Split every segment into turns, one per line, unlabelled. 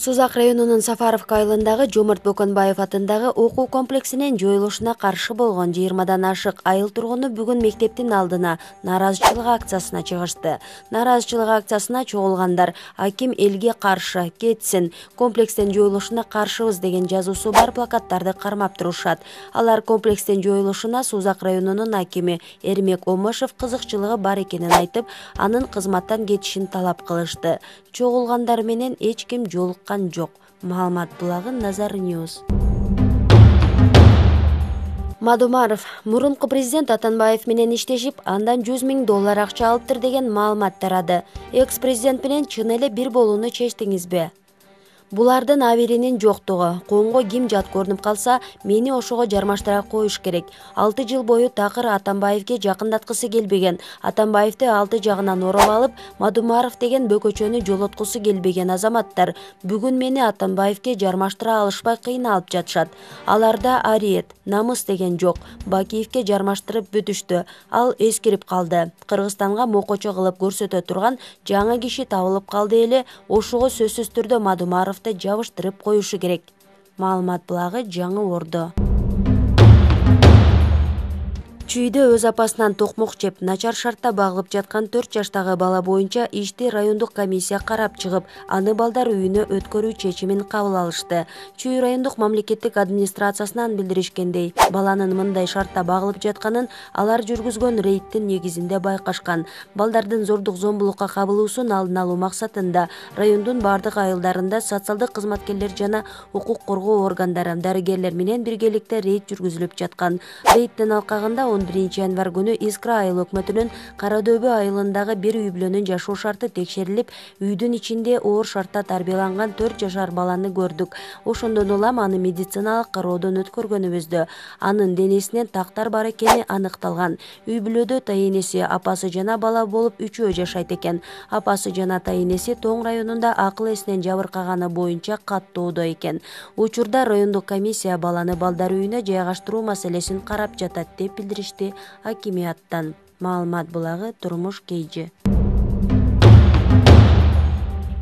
Сузак районунун Сафаровка айылындагы Жомарт Бөкөнбаев атындагы окуу комплексинин жоюлушуна каршы болгон 20дан ашык айыл тургуну бүгүн мектептин алдына нааразычылык акциясына чыгышты. Нааразычылык акциясына чогулгандар аким элге каршы кетсин, комплекстин жоюлушуна каршыбыз деген жазуусу бар плакаттарды кармап турушат. Алар комплекстин жоюлушуна Сузак районунун акими Эрмек Омошев кызыкчылыгы бар экенин айтып, анын кызматтан кетишин талап кылышты. Чогулгандар менен эч ким жолуккан жок. Маалымат булагы Назар Ньюс. Мадумаров мурунку президент Атамбаев менен иштешип, андан $100,000 акча алыптыр деген маалымат тарады. Экс-президент менен чын эле бир болууну чечтиңизби? Булардын аберинин жоктугу. Коомго ким жат көрүнүп калса, мени ошого жармаштыра коюш керек. 6 жыл бою такыр Атамбаевге жакындаткысы келбеген, Атамбаевди алты жагынан ороп алып, Мадумаров деген бөкөчөнү жолоткусу келбеген азаматтар бүгүн мени Атамбаевге жармаштыра алышпай кыйналып жатышат. Аларда ариет, намыс деген жок. Бакиевге жармаштырып бүтүштү. Ал эскирип калды. Кыргызстанга мокочо кылып көрсөтө турган жаңы киши табылып калды эле, ошого сөзсүз түрдө Мадумаров жабыштырып коюшу керек. Маалымат булагы Жаңы Ордо. Чүйдө өз апасынан токмок жеп, начар шартта багылып жаткан 4 жаштагы бала боюнча ишти райондук комиссия карап чыгып, аны балдар үйүнө өткөрүү чечимин кабыл алышты. Чүй райондук мамлекеттик администрациясынан билдиришкендей, баланын мындай шартта багылып жатканын алар жүргүзгөн рейдтин негизинде байкашкан. Балдардын зордук зомбулукка кабылуусун алдын алуу максатында райондун бардык айылдарында социалдык кызматкерлер жана укук коргоо органдары, дарыгерлер менен биргеликте рейд жүргүзүлүп жаткан. Рейдтин алкагында 11 январь күнү Искра айыл өкмөтүнүн Карадөбө айылындагы бир үй бүлөнүн жашоо шарты текшерилип, үйдүн ичинде оор шартта тарбияланган 4 жашар баланы көрдүк. Ошондон улам аны медициналык кароодон өткөргөнүбүздө анын денесинен тактар бар экени аныкталган. Үй бүлөдө тайэнеси, апасы жана бала болуп үчөө жашайт экен. Апасы жана тайэнеси Тоң районунда акыл эсинен жабыркаганы боюнча каттоодо экен. Учурда райондук комиссия баланы балдар үйүнө жайгаштыруу маселесин карап жатат деп билдиришти акимияттан. Маалымат булагы Турмуш Кейжи.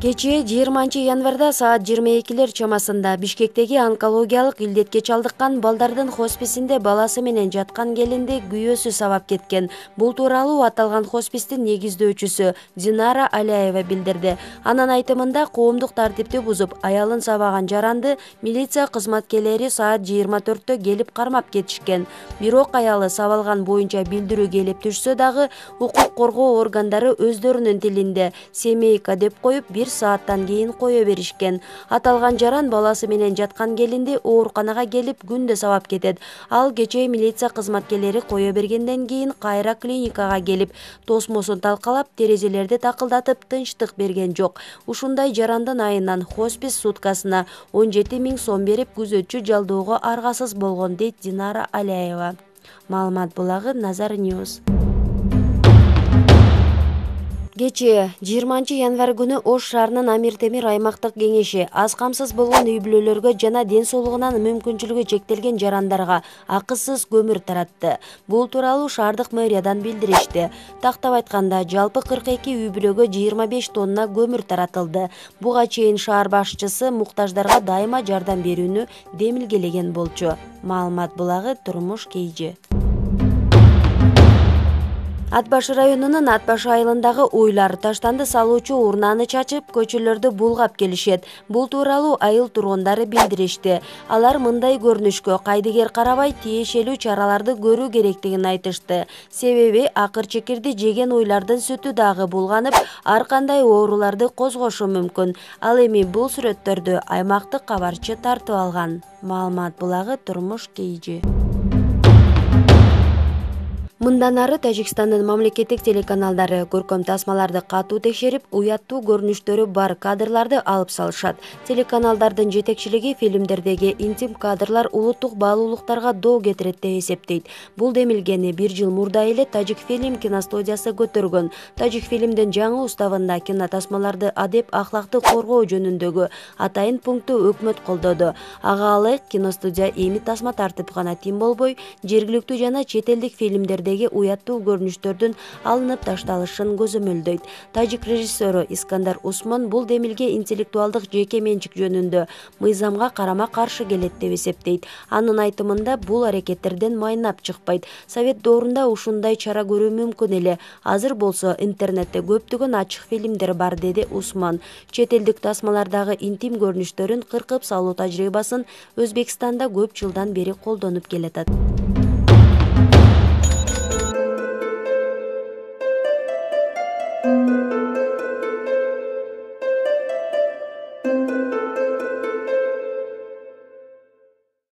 Кечээ 20 январда саат 22 чамасында Бишкектеги онкологиялык илдетке чалдыккан балдардын хосписинде баласы менен жаткан келинди күйөөсү сабап кеткен. Бул тууралуу аталган хоспистин негиздөөчүсү Динара Аляева билдирди. Анын айтымында коомдук тартипти бузуп, аялын сабаган жаранды милиция кызматкерлери саат 24-тө келип кармап кетишкен. Бирок аялы сабалган боюнча билдирүү келип түшсө дагы укук коргоо органдары өздөрүнүн тилинде семейка деп коюп, бир сааттан кийин кое беришкен. Аталган жаран баласы менен жаткан келинди ооруканага келип күндө сабап кетет. Ал кечээ милиция кызматкерлери кое бергенден кийин кайра клиникага келип, тосмосун талкалап, терезелерди такылдатып тынчтык берген жок. Ушундай жарандын айынан хоспис суткасына 17,000 сом берип, күзөтчү жалдоого аргасыз болгон, дейт Динара Аляева. Маалымат булагы Назар Ньюс. Кечээ 20 январь күнү Ош шаарынын Амир Темир аймактык кеңеши аз камсыз болгон үй бүлөлөргө жана ден соолугунан мүмкүнчүлүгү чектелген жарандарга акысыз көмүр таратты. Бул тууралуу шаардык мэриядан билдиришти. Тактап айтканда, жалпы 42 үй бүлөгө 25 тонна көмүр таратылды. Буга чейин шаар башчысы муктаждарга дайыма жардам берүүнү демилгелеген болчу. Маалымат булагы Турмуш Кейжи. Ат башы районунун Ат башы айылындагы уйлар таштанды салуучу урнаны чачып, көчөлөрдү булгап келишет. Бул тууралуу айыл тургундары билдиришти. Алар мындай көрүнүшкө кайдыгер карабай тиешелүү чараларды көрүү керектигин айтышты. Себеби акыр чекирди жеген уйлардын сүтү дагы булганып, ар кандай ооруларды козгошу мүмкүн. Ал эми бул сүрөттөрдү аймактык кабарчы тартып алган. Маалымат булагы Турмуш Кейжи. Мындан ары Тажикстандын мамлекеттик телеканалдары көркөм тасмаларды катуу текшерип, уяттуу көрүнүштөрү бар кадрларды алып салышат. Телеканалдардын жетекчилиги фильмдердеги интим кадрлар улуттук баалуулуктарга доо кетирет деп эсептейт. Бул демилгени 1 жыл мурда эле Тажик фильм киностудиясы көтөргөн. Тажик фильмдин жаңы уставында кинотасмаларды адеп ахлакты коргоо жөнүндөгү атайын пункту өкмөт колдоду. Ага ылайык киностудия эми тасма тартып гана тим болбой, жергиликтүү жана чет элдик фильмдерде фильмдердеги уяттуу көрүнүштөрдүн алынып ташталышын көзөмөлдөйт. Тажик режиссеру Искандар Усман бул демилге интеллектуалдык жеке менчик жөнүндө мыйзамга карама-каршы келет деп эсептейт. Анын айтымында бул аракеттерден майнап чыкпайт. Совет доорунда ушундай чара көрүү мүмкүн эле. Азыр болсо интернетте көптөгөн ачык фильмдер бар, деди Усман. Чет элдик тасмалардагы интим көрүнүштөрүн кыркып салуу тажрыйбасын Өзбекстанда көп жылдан бери колдонуп келатат.